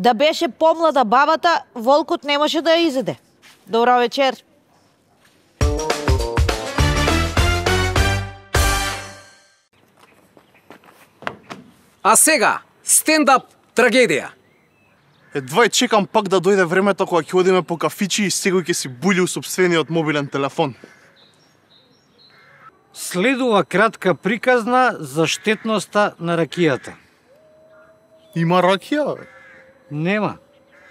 Да беше помлада бабата, волкот немаше да ја изеде. Добро вечер. А сега, стендап трагедија. Едва чекам пак да дојде времето кога ќе одиме по кафичи и секој ќе си були у собствениот мобилен телефон. Следува кратка приказна за штетноста на ракијата. Има ракија, бе? Нема.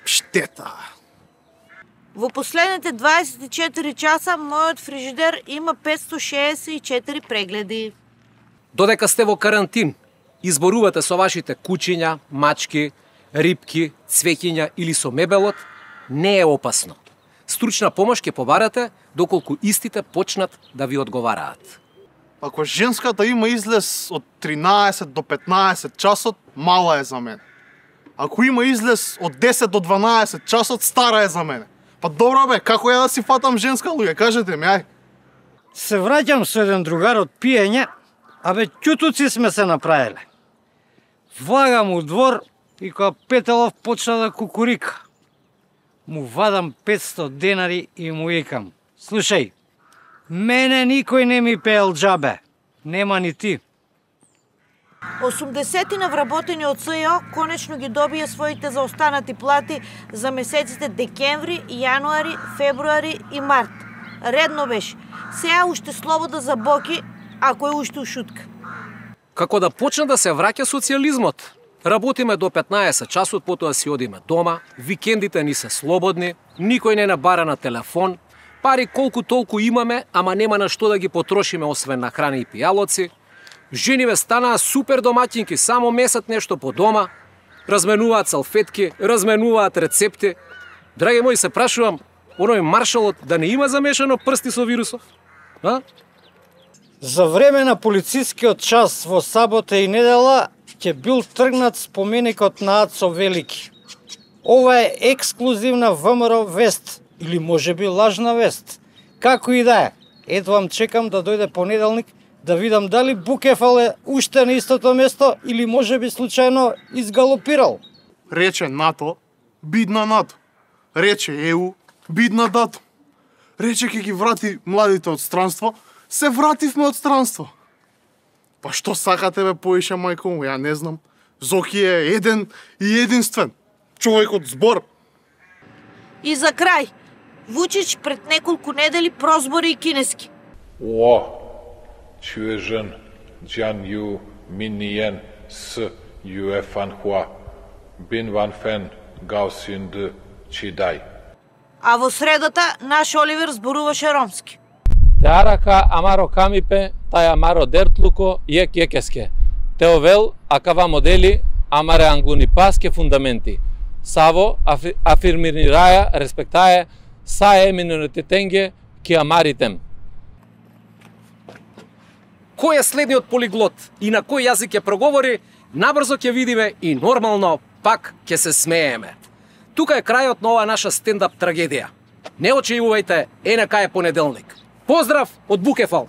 Штета. Во последните 24 часа мојот фрижидер има 564 прегледи. Додека сте во карантин, изборувате со вашите кучиња, мачки, рибки, цвеќиња или со мебелот, не е опасно. Стручна помош ќе побарате доколку истите почнат да ви одговараат. Ако женската има излез од 13 до 15 часот, мала е за мене. Ако има излез од 10 до 12 часот, стара е за мене. Па добро бе, како ја да си фатам женска луѓе, кажете ми, ај. Се враќам со еден другар од пиење, абе ќутуци сме се направиле. Влагам у двор и кога Петелов почна да кукурика. Му вадам 500 денари и му викам: слушај, мене никој не ми пеел џабе, нема ни ти. 80 вработени од СЈО конечно ги добија своите заостанати плати за месеците декември, јануари, февруари и март. Редно беше. Сега уште слобода за боки, ако е уште ушутка. Како да почне да се враќа социјализмот. Работиме до 15 часот, потоа си одиме дома, викендите ни се слободни, никој не набара на телефон, пари колку толку имаме, ама нема на што да ги потрошиме освен на храна и пијалоци. Жениве станаа супер домаќинки, само месат нешто по дома, разменуваат салфетки, разменуваат рецепти. Драги мои, се прашувам, оној маршалот да не има замешано прсти со вирусов? А? За време на полицискиот час во сабота и недела ќе бил тргнат споменикот на Ацо Велики. Ова е ексклузивна ВМРО вест, или можеби лажна вест. Како и да е, ето вам чекам да дојде понеделник да видам дали Букефал е уште на истото место или можеби случајно изгалопирал. Рече НАТО, бидна НАТО. Рече ЕУ, бидна дато. Рече ќе ги врати младите од странство, се вративме од странство. Па што сакате бе поише, мајко му, ја не знам. Зоки е еден и единствен. Човек од збор. И за крај, Вучич пред неколку недели прозбори и кинески. О, чуежен, джан ю миниен с юефан хуа, бин ван фен гаусин д чидай. А во средата, наш Оливер зборуваше ромски. Теарака амаро камипе, тај амаро дертлуко јек јекеске. Теовел акава модели амаре ангуни паске фундаменти. Саво афирмираја респектаје саe миноритетенге ки амаритем. Кој е следниот полиглот и на кој јазик ќе проговори, набрзо ќе видиме и нормално пак ќе се смееме. Тука е крајот на оваа наша стендап трагедија. Не очијувајте, НК е понеделник. Поздрав од Букефал!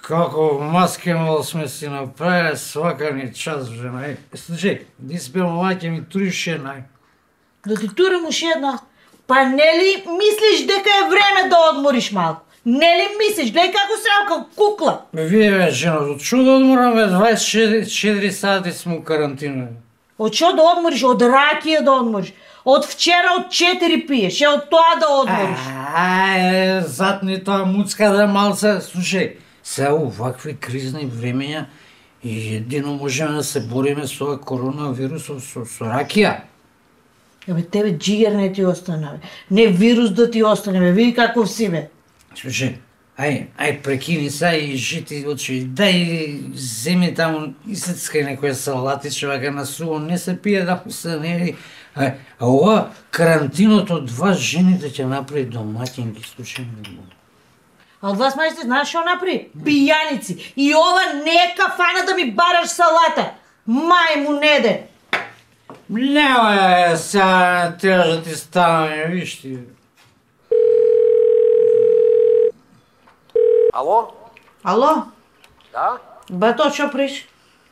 Како маскенол сме си направиле свака ни час, жена. Слушај, ти спел маќе ми туриш една. Да ти турам уши една. Па нели мислиш дека е време да одмориш малку? Нели мислиш, гледај како се рака кукла? Вие бе, жена, од што да одморам, бе, 24 сати сме у карантина. Од што да одмориш? Од ракија да одмориш. Од вчера од 4 пиеш, е од тоа да одмориш. Затни тоа муцка да малце. Слушај, сега увакви кризни времења и едино можеме да се бориме со коронавирусов со ракија. Бе, тебе джигер не ти остане, бе. Не вирус да ти остане, бе. Види каков си, бе. Слушај, ај прекини са и жити очи, дај земи таму и сецкај некоја салатиче, вака на суво, не се пие да се не. А ова карантинот од вас жените ќе направи домаќинки, слушај ме. А од вас мајсте знаеш што направи? Пијаници. И ова не е кафана да ми бараш салата. Мајму неден. Нема сега треба да ти стане, виж ти. Ало? Ало? Да? Бато, што приш?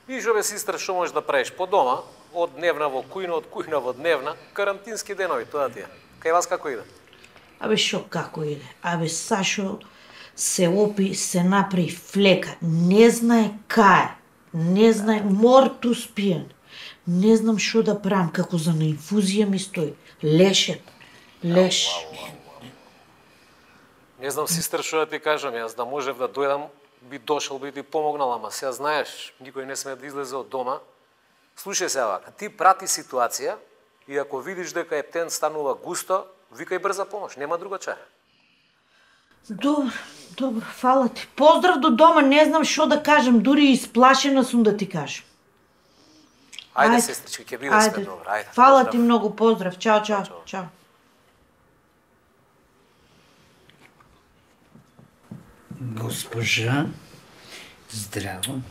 Вижу бе, сестра, што можеш да правиш по дома, од дневна во кујна, од кујна во дневна, карантински денови, тоа ти е. Кај вас како иде? Абе, шо како иде? Абе, Сашо се опи, се направи флека. Не знае кај. Не знае, мортус пиен. Не знам што да правам, како за на инфузија ми стои. Лешен. Леш. Не знам, сестра, што да ти кажам, јас да можев да дојдам, би дошол, би ти помогнал, ама сега знаеш, никој не сме да излезе од дома. Слушај се вака, ти прати ситуација и ако видиш дека ептен станува густо, викај брза помош, нема друга чара. Добро, фала ти. Поздрав до дома, не знам што да кажам, дури исплашена сум да ти кажам. Ајде, сестрички, ќе биде све добро, ајде. Фала поздрав. ти многу, поздрав. Чао, чао, чао. Госпожа, здраво.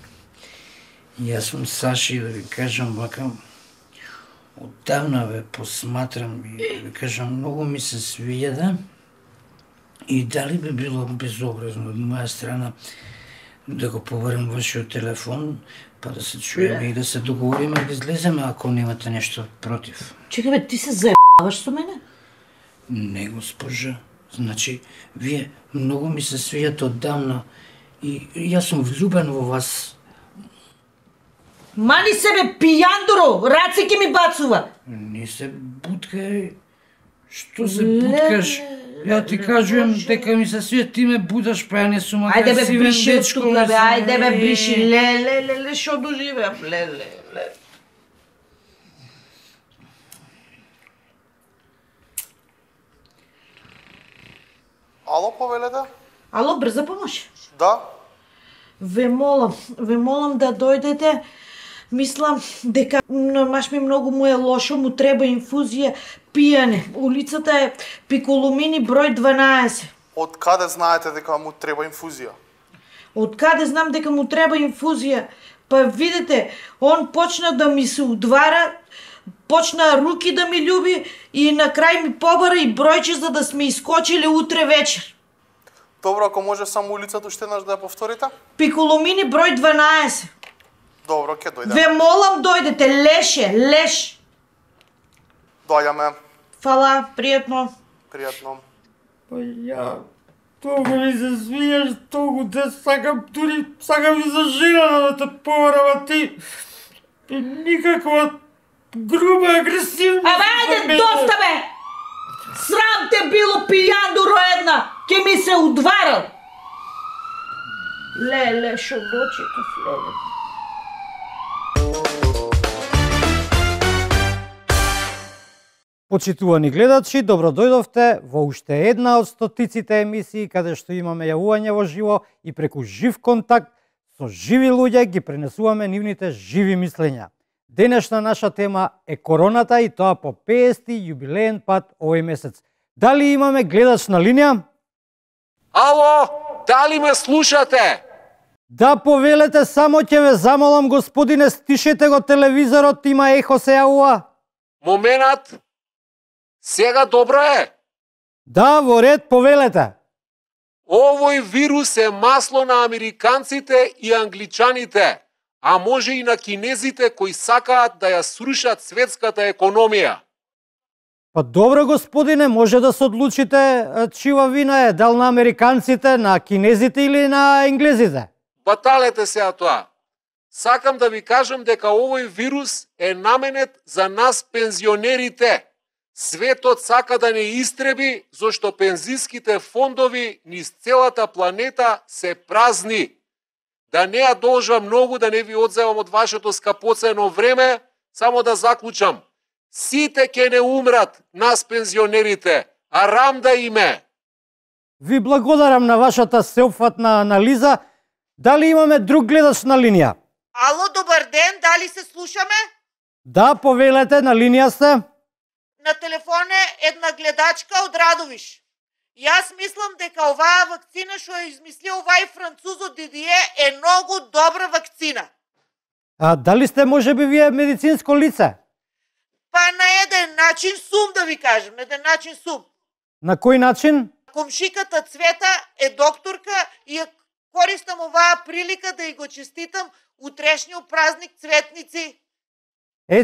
Јас сум Саши, да ви кажам вака, оддавна ве посматрам и да ви кажам, многу ми се свијада и дали би било безобразно од моја страна да го побарам вашиот телефон, па да се чуеме и да се договориме да излеземе ако немате нешто против. Чекай бе, ти се заебаваш со мене? Не, госпожа. Значи, вие многу ми се свијате оддавна и јас сум влюбен во вас. Мани себе пијандоро, раце ки ми бацува. Не се буткај. Што се буткаш? Ја ти кажувам дека ми се свијат, ти ме будаш, па ја не сум Ајде бе, агресивен бриши од дечко. тука бе, ајде бе, бриши, ле, шо доживеам, ле. Ало, повелете? Ало, брза помош? Да? Ве молам да дојдете. Мислам дека маш ми многу му е лошо, му треба инфузија пијане. Улицата е Пиколомини број 12. Од каде знаете дека му треба инфузија? Од каде знам дека му треба инфузија? Па видите, он почна да ми се удвара, почна руки да ми љуби и на крај ми побара и бројче за да сме искочиле утре вечер. Добро, ако може само улицата уште еднаш да ја повторите? Пиколомини број 12. Добро, ќе дојдеме. Ве молам дојдете, леш. Доаѓаме. Фала, пријатно. Пријатно. Па ја, толку ми се свијаш, толку те сакам, дури сакам и за жена да те побарам, а ти никаква груба, агресивна. Абе, ајде, доста бе! Срам те било, пијандуро една! Ке ми се удварал! Ле, шо дочекав, леле. Почитувани гледачи, добро дојдовте во уште една од стотиците емисии каде што имаме јавување во живо и преку жив контакт со живи луѓе ги пренесуваме нивните живи мислења. Денешна наша тема е короната и тоа по 50-ти јубилеен пат овој месец. Дали имаме гледач на линија? Ало, дали ме слушате? Да, повелете, само ќе ве замолам, господине, стишете го телевизорот, има ехо се јавува. Моментат. Сега добро е. Да, во ред, повелете. Овој вирус е масло на американците и англичаните, а може и на кинезите кои сакаат да ја срушат светската економија. Па добро, господине, може да се одлучите чива вина е, дал на американците, на кинезите или на енглезите? Баталете сега тоа. Сакам да ви кажам дека овој вирус е наменет за нас пензионерите. Светот сака да не истреби, зашто пензиските фондови низ целата планета се празни. Да не ја должам многу, да не ви одземам од вашето скапоцено време, само да заклучам. Сите ќе не умрат, нас пензионерите, а рам да име. Ви благодарам на вашата сеопфатна анализа. Дали имаме друг гледач на линија? Ало, добар ден, дали се слушаме? Да, повелете, на линија сте. На телефон е една гледачка од Радовиш. Јас мислам дека оваа вакцина што ја измислил овај французот Дидие е многу добра вакцина. А дали сте можеби вие медицинско лице? Па на еден начин сум, да ви кажем, на еден начин сум. На кој начин? Комшиката Цвета е докторка и Користам оваа прилика да и го честитам утрешниот празник Цветници.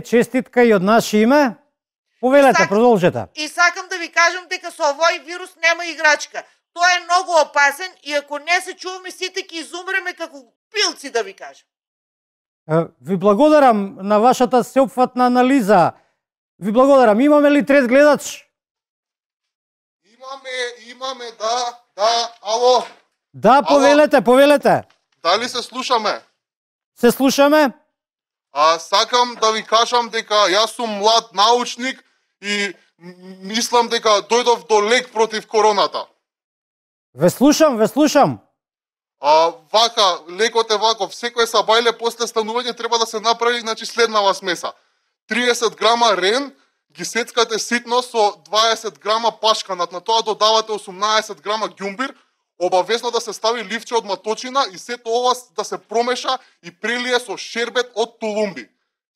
Честитка и од наше име. Повелете, продолжете. И сакам да ви кажам дека со овој вирус нема играчка. Тој е многу опасен и ако не се чуваме сите ќе изумреме како пилци, да ви кажам. Ви благодарам на вашата сеопфатна анализа. Ви благодарам. Имаме ли трет гледач? Имаме, да, ало. Да, повелете. Дали се слушаме? Се слушаме? Сакам да ви кажам дека јас сум млад научник и мислам дека дојдов до лек против короната. Ве слушам. Вака, лекот е ваков, секој сабајле после станување треба да се направи, значи, следнава смеса. 30 грама рен, ги сецкате ситно со 20 грама пашканат, на тоа додавате 18 грама ѓумбир, обавезно да се стави ливче од маточина и сето ова да се промеша и прелие со шербет од тулумби.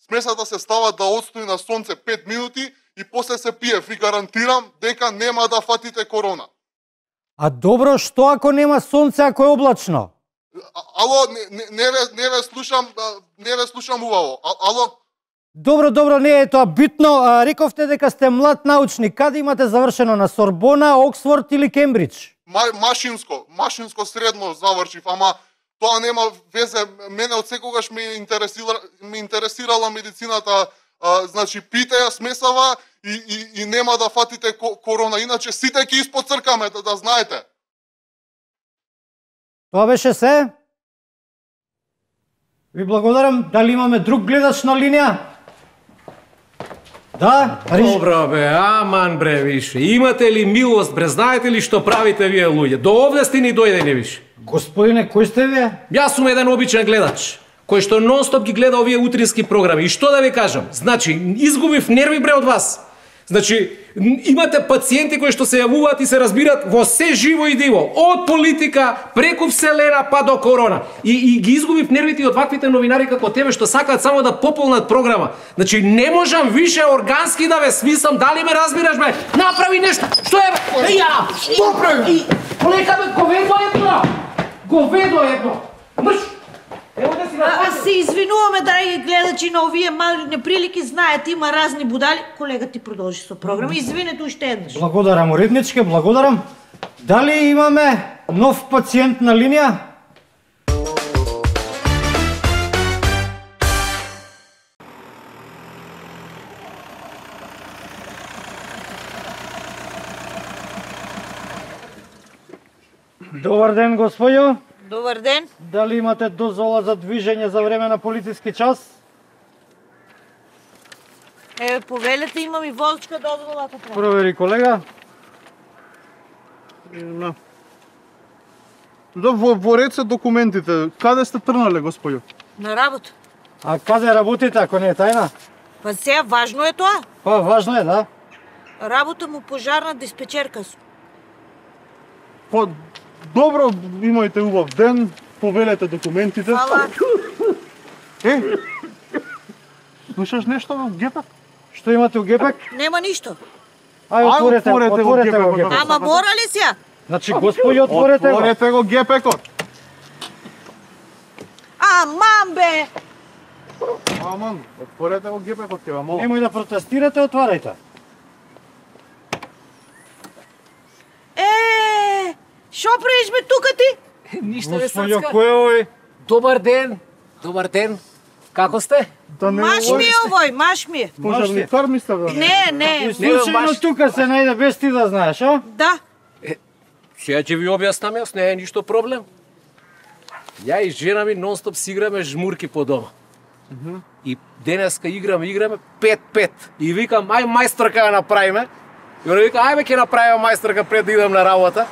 Смесата се става да отстои на сонце 5 минути и после се пие. Ви гарантирам дека нема да фатите корона. А добро, што ако нема сонце, ако е облачно? Ало, не ве слушам убаво. Ало? Добро, не е тоа битно. Рековте дека сте млад научник. Каде имате завршено? На Сорбона, Оксфорд или Кембридж? Машинско средно завршив, ама тоа нема везе. Мене од секогаш ме интересирала медицината. Значи, пите ја смесава и нема да фатите корона. Иначе сите ќе испоцркаме, да знаете. Тоа беше се. Ви благодарам. Дали имаме друг гледач на линија? Да, Добро бе, аман бре, више. Имате ли милост, бре, знаете ли што правите вие луѓе? До овде сте ни дојдени, више. Господине, кој сте вие? Јас сум еден обичен гледач, кој што нон-стоп ги гледа овие утрински програми. И што да ви кажам? Значи, изгубив нерви бре од вас. Значи, имате пациенти кои што се јавуваат и се разбират во се живо и диво. Од политика, преку вселена, па до корона. И ги изгубив нервите од ваквите новинари како тебе што сакаат само да пополнат програма. Значи, не можам више органски да ве смислам. Дали ме разбираш, бе? Направи нешто. Што е, бе? Ја! Што прави? Полека, бе, говедо едно. Мрш! Се извинуваме, драги гледачи, на овие мали неприлики, знаете, има разни будали. Колега, ти продолжи со програма. Извинете уште еднаш. Благодарам, уредничке, благодарам. Дали имаме нов пациент на линија? Добар ден, господјо. Добар ден. Дали имате дозвола за движење за време на полициски час? Повелете, имам и возачка дозвола, ако треба. Провери, колега. Во ред се документите. Каде сте трнале, господјо? На работа. А каде работите, ако не е тајна? Па сега важно е тоа. Па важно е, да. Работа му пожарна диспечерка сум. Па, добро, имајте убав ден, повелете документите. Фала. Слушаш нешто во гепак? Што имате у гепак? Нема ништо. Отворете го гепак. Ама мора ли сега? Значи, господи, отворете го. Отворете го гепекот. Аман бе! Аман, отворете го гепекот, ќе ва молам. Немој да протестирате, отварајте. Шо правиш бе тука ти? Ништо не Господи, сацка. кој е овој? Добар ден. Како сте? Маш ми е овој, маш ми е. Пожарникар ми сте, бе? Не. Случајно тука се најде без ти да знаеш, а? Да. Сега ќе ви објаснам јас, не е ништо проблем. Ја и жена ми нон-стоп си играме жмурки по дома. И денеска играме 5-5. И викам, ај мајсторка ја направиме. И она вика, ајме ќе направиме мајсторка пред да идам на работа.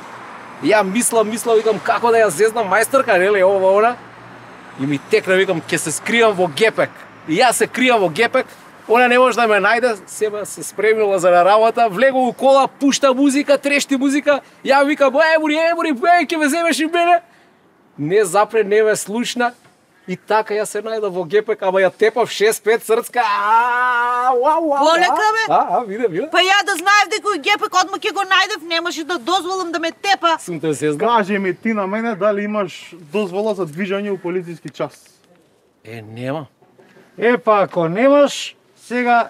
И ја мислам, викам, како да ја зезнам мајсторка, нели, ова, она. И ми текна, викам, ќе се скријам во гепек. И јас се кријам во гепек, она не може да ме најде, себе се спремила за на работа, влего у кола, пушта музика, трешти музика, ја викам, емури, ќе ме земеш и мене. Не запре, не ме слушна. И така ја се најда во ГПК, ама ја тепав 6-5 срцка. Полека, бе. Виде. Па ја да знаев дека ГПК одма ќе го најдев, немаше да дозволам да ме тепа. Сум те се знам. Кажи ми ти на мене дали имаш дозвола за движење у полициски час? Нема. Па ако немаш, сега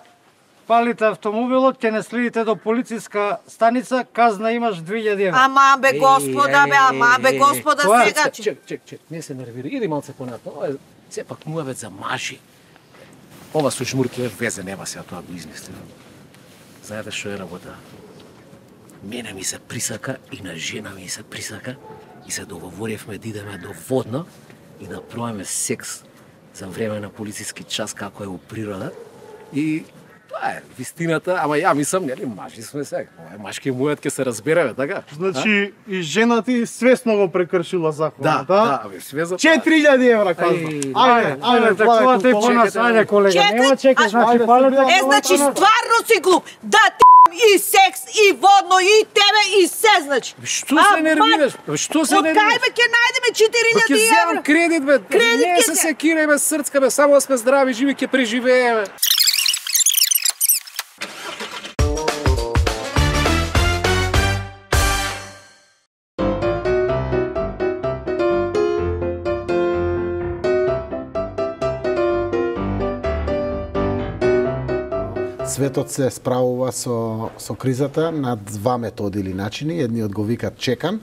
палите автомобилот, ќе не следите до полициска станица, казна имаш 2000 евра. Ама бе господа, сега. Чек, не се нервира. Иди малце понатаму. Ова е сепак муавет за мажи. Ова со жмурки везе нема сега, тоа го измислив. Знаете што е работа? Мене ми се присака и на жена ми се присака и се договоривме да идеме до Водно и да пробаме секс за време на полициски час како е у природа. И тоа е вистината, ама ја мислам, нели, мажи сме сега. Ова е машки мујат ќе се разбереме, така? Значи и жена ти свесно го прекршила законот, Да, свесно. 4000 евра казна. Ајде, такувате по нас, ајде колега, нема чекаш, значи палите. Значи стварно си глуп. Да и секс, и Водно, и тебе, и се, значи. Што се нервираш? Што се нервираш? Од кај бе ќе најдеме 4000 Ќе земам кредит, бе. Не се секирај, бе, срцка, бе, само да сме здрави, живи, ќе преживееме. Светот се справува со кризата на два методи или начини. Едниот го викат чекан.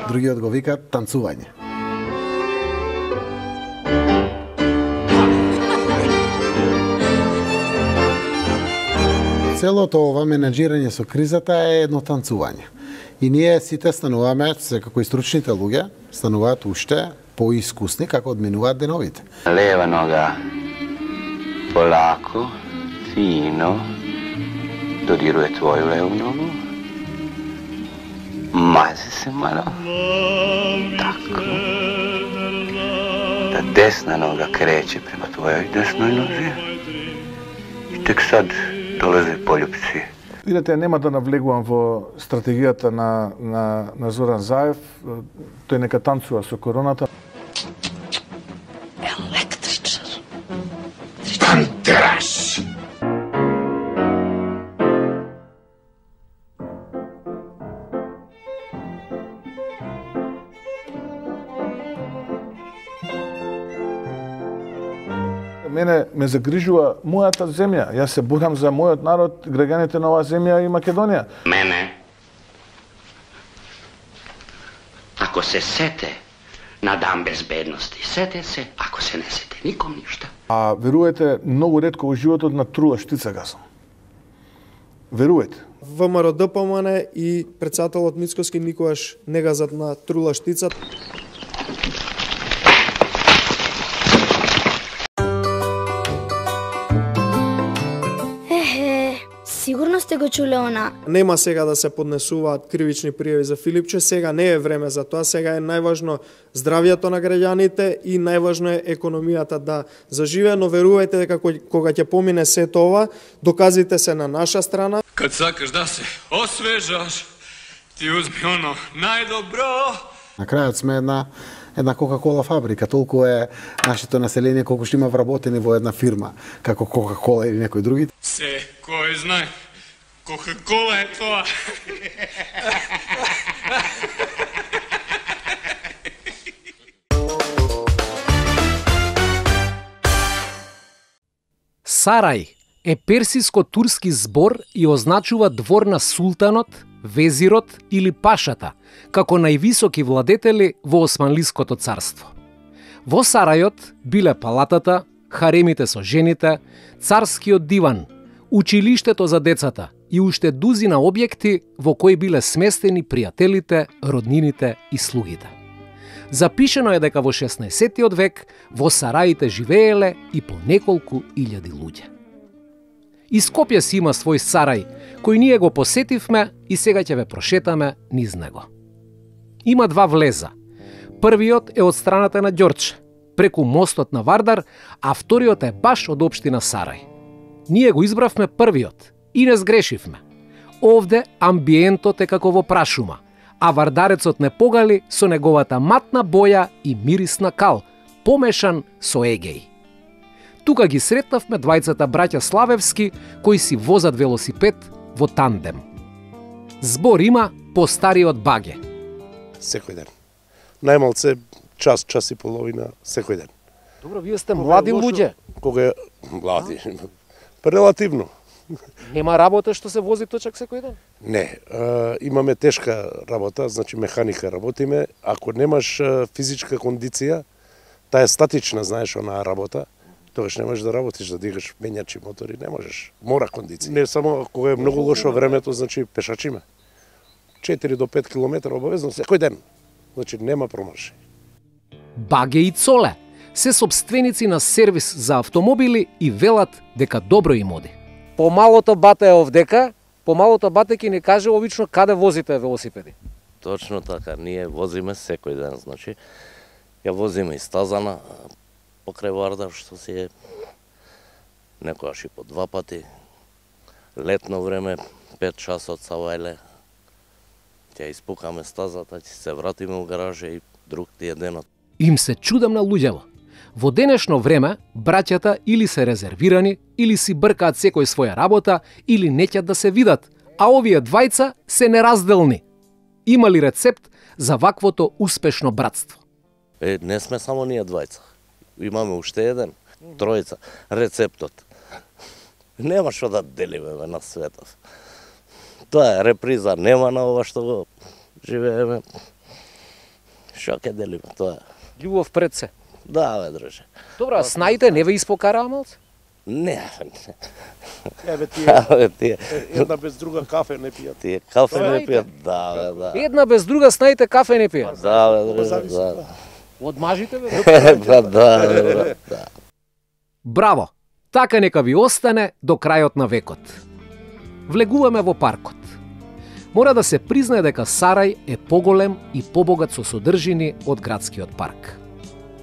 Другиот го викат танцување. Целото ова менеджирање со кризата е едно танцување. И ние сите стануваме, секако и стручните луѓе, стануваат уште поискусни како одминуваат деновите. Leva noga polako, fino, dodiruje tvoju levu nogu, mazi se malo, tako, da desna noga kreće prema tvojoj desnoj nozi i tek sad dolaze poljupci. Видете, нема да навлегувам во стратегијата на Зоран Заев. Тој нека танцува со короната. Електричар. Тантраш! Мене ме загрижува мојата земја. Јас се борам за мојот народ, граѓаните на оваа земја и Македонија. Мене, ако се сете на дан безбедности, сете се, ако се не сете, ником ништа. А верувате, многу ретко во животот на трула штица газам. Верувате. ВМРО ДПМН и председателот Мицкоски никогаш не газат на трула штица. Сигурно сте го чуле она. Нема сега да се поднесуваат кривични пријави за Филипче, сега не е време за тоа, сега е најважно здравието на граѓаните и најважно е економијата да заживее, но верувајте дека кога ќе помине сето ова, доказите се на наша страна. Кад сакаш да се освежаш, ти узми оно најдобро. На крајот сме една Кока-Кола фабрика, толку е нашето население колку што има вработени во една фирма, како Кока-Кола или некој други. Се, кој знае, Кока-Кола е тоа. Сарај е персиско-турски збор и означува двор на султанот, везирот или пашата, како највисоки владетели во Османлиското царство. Во Сарајот биле палатата, харемите со жените, царскиот диван, училиштето за децата и уште дузина објекти во кои биле сместени пријателите, роднините и слугите. Запишено е дека во 16 век во Сараите живееле и по неколку илјади луѓе. И Скопје си има свој Сарај, кој ние го посетивме и сега ќе ве прошетаме низ него. Има два влеза. Првиот е од страната на Ѓорче, преку мостот на Вардар, а вториот е баш од општина Сарај. Ние го избравме првиот, И не сгрешивме. Овде амбиентот е како во прашума, а вардарецот не погали со неговата матна боја и мирисна кал, помешан со егеј. Тука ги сретнавме двајцата браќа Славевски кои си возат велосипед во тандем. Збор има постариот баге. Секој ден. Најмалце час, час и половина секој ден. Добро, вие сте млади луѓе. Кога е млади? Релативно. Нема работа што се вози точак секој ден? Не, имаме тешка работа, значи механика работиме. Ако немаш физичка кондиција, таа е статична, знаеш, онаа работа, тогаш не можеш да работиш, да дигаш менјачи мотори, не можеш. Мора кондиција. Не само кога е многу лошо времето, значи пешачиме. 4 до 5 километра обавезно секој ден. Значи нема промарши. Баге и Цоле се собственици на сервис за автомобили и велат дека добро им оди. Помалото бате е овдека, помалото бате ќе ни каже обично каде возите велосипеди. Точно така, ние возиме секој ден, значи ја возиме и стазана покрај Вардар, што си е некојаш и по 2 пати. Летно време 5 часот са вајле. Ќе испукаме стазата, ќе се вратиме у гаража и друг ти е денот. Им се чудам на луѓето. Во денешно време, браќата или се резервирани, или си бркаат секој своја работа, или неќат да се видат, а овие двајца се неразделни. Има ли рецепт за ваквото успешно братство? Не сме само ние двајца. Имаме уште еден, тројца. Рецептот. Нема што да делиме на светот. Тоа е реприза, нема на ова што го живееме. Што ќе делиме, тоа е. Љубов пред се. Да, бе, друже. Добро, а снаите не ве испокараа малце? Не. Еве тие. Една без друга кафе не пијат. Тие кафе не пијат, да, бе, да. Една без друга снаите кафе не пијат. Да, бе, друже, да. Од мажите, бе? Да. Браво! Така нека ви остане до крајот на векот. Влегуваме во паркот. Мора да се признае дека Сарај е поголем и побогат со содржини од градскиот парк.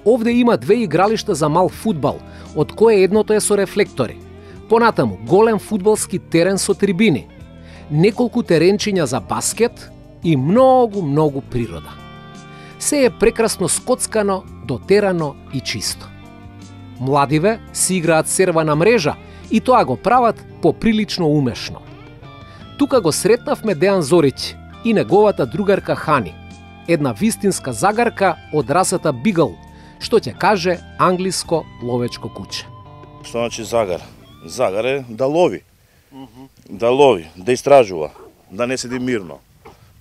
Овде има 2 игралишта за мал фудбал, од кое едното е со рефлектори. Понатаму, голем фудбалски терен со трибини, неколку теренчиња за баскет и многу природа. Се е прекрасно скоцкано, дотерано и чисто. Младиве си играат сервана мрежа и тоа го прават поприлично умешно. Тука го сретнавме Дејан Зориќ и неговата другарка Хани, една вистинска загарка од расата Бигл, што ќе каже англиско ловечко куче. Што значи загар? Загар е да лови. Да лови, да истражува, да не седи мирно.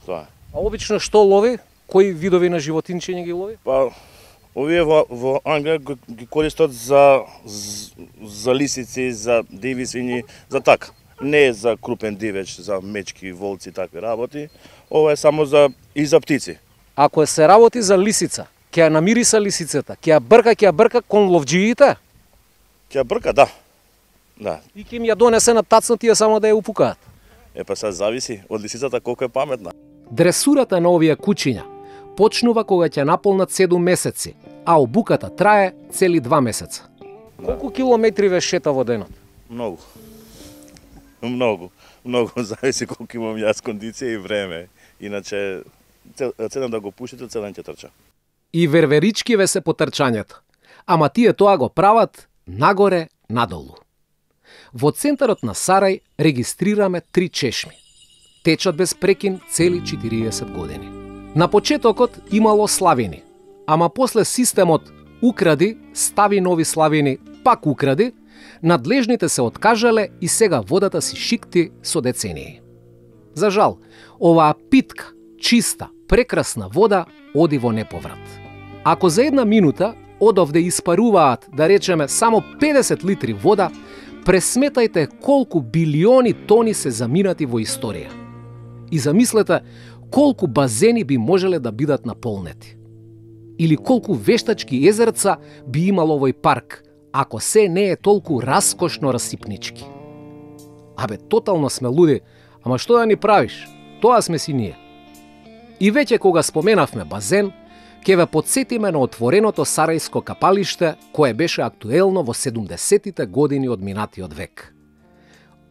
Тоа. А обично што лови? Кои видови на животинчиња ги лови? Па, овие во Англија ги користат за лисици, за диви свињи, за така. Не е за крупен дивеч, за мечки, волци и такви работи. Ова е само за птици. Ако се работи за лисица, ќе ја намириса лисицата, ќе ја брка кон ловџиите? Ќе ја брка, да. Да. И ќе им ја донесе на тацно тие само да ја упукаат. Па сега зависи од лисицата колку е паметна. Дресурата на овие кучиња почнува кога ќе наполнат 7 месеци, а обуката трае цели 2 месеца. Колку километри ве шета во денот? Многу, зависи колку имам јас кондиција и време. Иначе, цедам да го пушите, цедам ќе трча. И верверички ве се по трчањето. Ама тие тоа го прават нагоре, надолу. Во центарот на Сарај регистрираме 3 чешми. Течат без прекин цели 40 години. На почетокот имало славини, ама после системот укради, стави нови славини, пак укради, надлежните се откажале и сега водата си шикти со децении. За жал, оваа питка, чиста, прекрасна вода оди во неповрат. Ако за 1 минута одовде испаруваат, да речеме, само 50 литри вода, пресметајте колку билиони тони се заминати во историја. И замислете колку базени би можеле да бидат наполнети. Или колку вештачки езерца би имал овој парк, ако се не е толку раскошно расипнички. Абе, тотално сме луди, ама што да ни правиш? Тоа сме си ние. И веќе кога споменавме базен, ќе ве подсетиме на отвореното сарајско капалиште, кое беше актуелно во 70-тите години од минатиот век.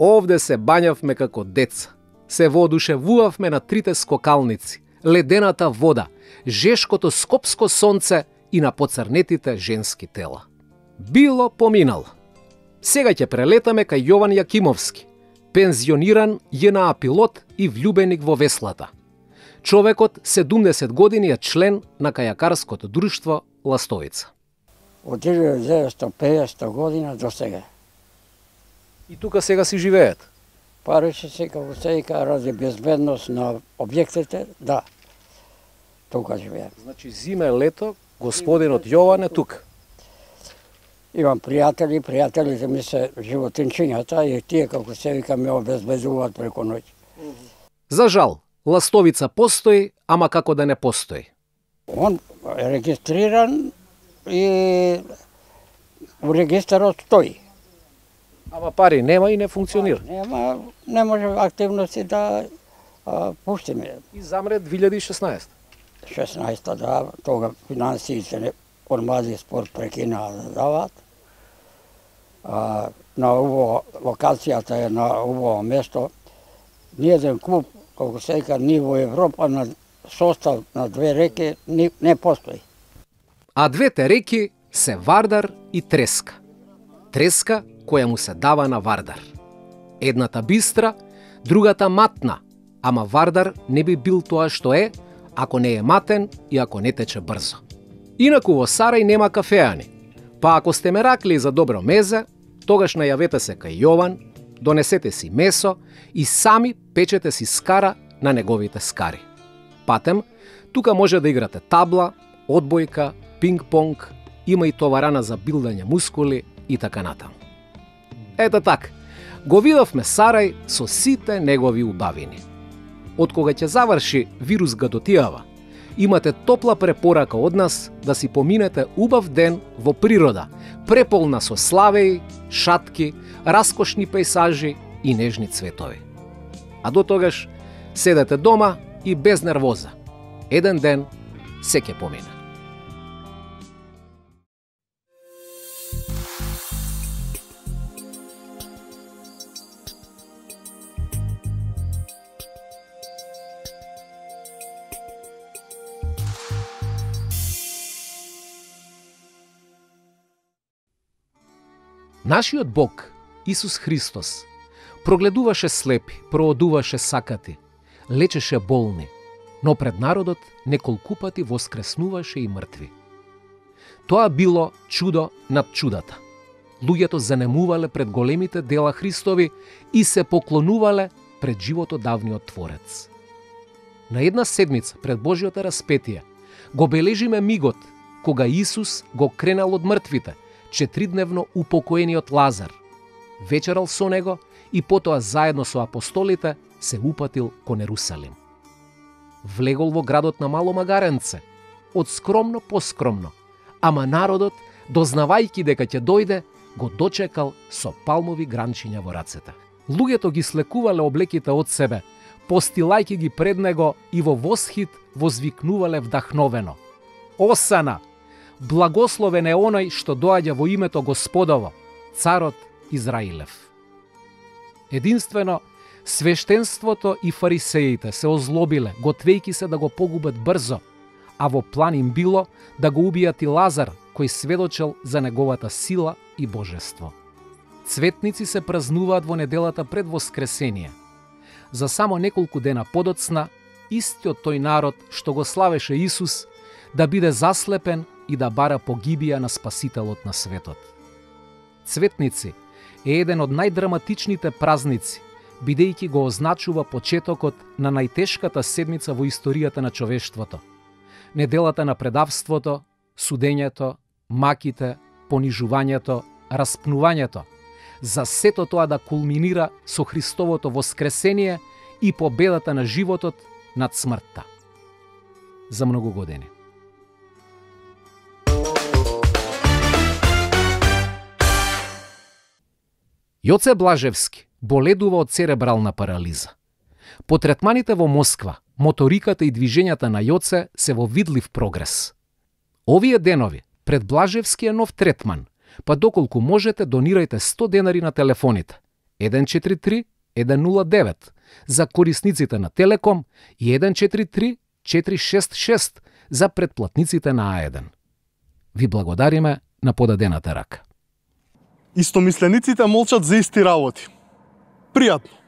Овде се бањавме како деца. Се воодушевувавме на трите скокалници, ледената вода, жешкото скопско сонце и на поцрнетите женски тела. Било поминало. Сега ќе прелетаме кај Јован Јакимовски, пензиониран ЈНА пилот и влюбеник во веслата. Човекот 70 години е член на кајакарското друштво Ластовица. Од 1950 година до сега. И тука сега си живеете? Пареше се како сега ради безбедност на објектите, да. Тука живеем. Значи зиме, лето, господинот Јован е тука. Имам пријателите ми се животинчињата и тие како се вика ме обезбедуваат преку ноќ. За жал, Ластовица постои, ама како да не постои. Он е регистриран и у регистарот стои. Ама пари нема и не функционира. Нема, не може активности да пуштиме. И замре 2016. 16 да, тога финансиите од Мази спорт прекинаа да дават. На ово локацијата е на ово место. Ниеден клуб, колку се вика, ни во Европа на состав на две реки не постои. А двете реки се Вардар и Треска. Треска која му се дава на Вардар. Едната бистра, другата матна, ама Вардар не би бил тоа што е, ако не е матен и ако не тече брзо. Инаку во Сарај нема кафеани, па ако сте ме ракли за добро мезе, тогаш најавете се кај Јован, донесете си месо и сами печете си скара на неговите скари. Патем, тука може да играте табла, одбојка, пинг-понг, има и товарана за билдање мускули и така натаму. Ето така, го видовме Сарај со сите негови убавини. Од кога ќе заврши вирус гадотијава, имате топла препорака од нас да си поминете убав ден во природа, преполна со славеи, шатки, раскошни пејсажи и нежни цветови. А до тогаш седете дома и без нервоза. Еден ден се ќе помине. Нашиот Бог, Исус Христос, прогледуваше слепи, проодуваше сакати, лечеше болни, но пред народот неколку пати воскреснуваше и мртви. Тоа било чудо над чудата. Луѓето занемувале пред големите дела Христови и се поклонувале пред животодавниот Творец. На една седмица пред Божјото распетие го бележиме мигот кога Исус го кренал од мртвите, 4-дневно упокоениот Лазар, вечерал со него и потоа заедно со апостолите се упатил кон Ерусалим. Влегол во градот на Мало Магаренце, од скромно по скромно, ама народот, дознавајќи дека ќе дојде, го дочекал со палмови гранчиња во рацете. Луѓето ги слекувале облеките од себе, постилајќи ги пред него и во восхит возвикнувале вдахновено: Осана! Благословен е оној што доаѓа во името Господово, царот Израилев. Единствено, свештенството и фарисеите се озлобиле, готвејќи се да го погубат брзо, а во план им било да го убијат и Лазар, кој сведочел за неговата сила и божество. Цветници се празнуваат во неделата пред Воскресение. За само неколку дена подоцна, истиот тој народ што го славеше Исус, да биде заслепен и да бара погибија на Спасителот на светот. Цветници е еден од најдраматичните празници, бидејќи го означува почетокот на најтешката седмица во историјата на човештвото. Неделата на предавството, судењето, маките, понижувањето, распнувањето, за сето тоа да кулминира со Христовото воскресение и победата на животот над смртта. За многу години. Јоце Блажевски боледува од церебрална парализа. По третманите во Москва, моториката и движењата на Јоце се во видлив прогрес. Овие денови, пред Блажевски е нов третман, па доколку можете донирајте 100 денари на телефоните 143 109 за корисниците на Телеком и 143 466 за претплатниците на А1. Ви благодариме на подадената рака. Истомислениците молчат за исти работи. Пријатно.